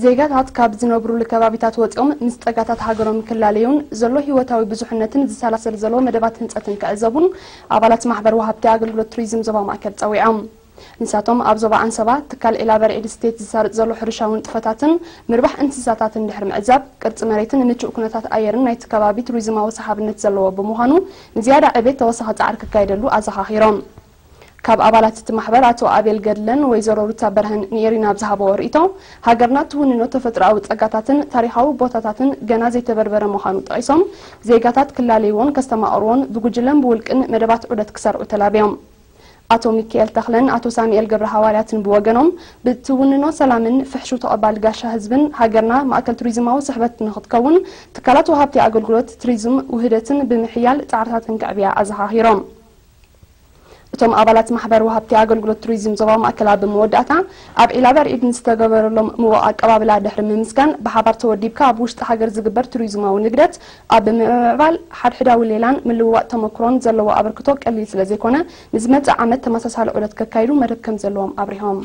ዜጋታት ካብ ዝነብሩሉ ከባቢታት ወፂኦም ምስ ፀጋታት ሃገሮም ክላለዩን ዘሎ ህይወታዊ ብዙሕነትን ዝሰላሰል ዘሎ መደባት ህንፀትን ክዕዘቡን ኣባላት ማሕበር ወሃብቲ ኣገልግሎት ቱሪዝም ዞባ ማእከል ፀዊዖም። ንሳቶም ኣብ ዞባ ኣንሰባ ትካል ኤላበርዒድ ስቴት ዝሳርጥ ዘሎ ሕርሻዊ ንጥፈታትን ምርባሕ እንስሳታትን ድሕሪ ምዕዛብ፣ ቅርፂ መሬትን ምቹእ ኩነታት ኣየርን ናይቲ ከባቢ ቱሪዝማዊ ሰሓብነት ዘለዎ ብምዃኑ ንዝያዳ ዕቤት ተወሳኺ ፃዕሪ ክካየደሉ ኣዘኻኺሮም። ካብ ኣባላት እቲ ማሕበር ኣቶ ኣቤል ገድለን ወይዘሮ ሩታ በርሀን ንኤሪና ኣብ ዝሃበዎ ርእይቶ፣ ሃገርና ትውንኖ ተፈጥሮኣዊ ጸጋታትን ታሪኻዊ ቦታታትን ገና ዘይተበርበረ ምዃኑ ጠቒሶም፣ ዜጋታት ክላለይዎን ከስተማቕርዎን ብጉጅለን ብውልቅን መደባት ዑደት ክሰርዑ ተላብዮም። ኣቶ ሚካኤል ተኽለን ኣቶ ሳሙኤል ገብረ ሃዋርያትን ብወገኖም፣ ብትውንኖ ሰላምን ፍሕሹ ተቐባሊ ጋሻ ህዝብን ሃገርና ማእከል ቱሪዝማዊ ስሕበት ንኽትከውን ትካላት ወሃብቲ ኣገልግሎት ቱሪዝም ውህደትን ብምሕያል ጻዕርታትን ከዕብያ ኣዘኻኺሮም። እቶም ኣባላት ማሕበር ወሃብቲ ኣገልግሎት ቱሪዝም ዞባ ማእከል ኣብ መወዳእታ ኣብ ዒላ በርዒድ ንዝተገበረሎም ምዉቕ ኣቀባብላ ድሕሪ ምምስጋን፣ ብሓባር ተወዲብካ ኣብ ውሽጢ ሃገር ዝግበር ቱሪዝማዊ ንግደት ኣብ ምምዕባል ሓድሕዳዊ ሌላን ምልውዋጥ ተመክሮን ዘለዎ ኣበርክቶ ቀሊል ስለ ዘይኮነ፣ ንዝመጽእ ዓመት ተመሳሳሊ ዑደት ከካይዱ መደብ ከም ዘለዎም ኣብሪሆም።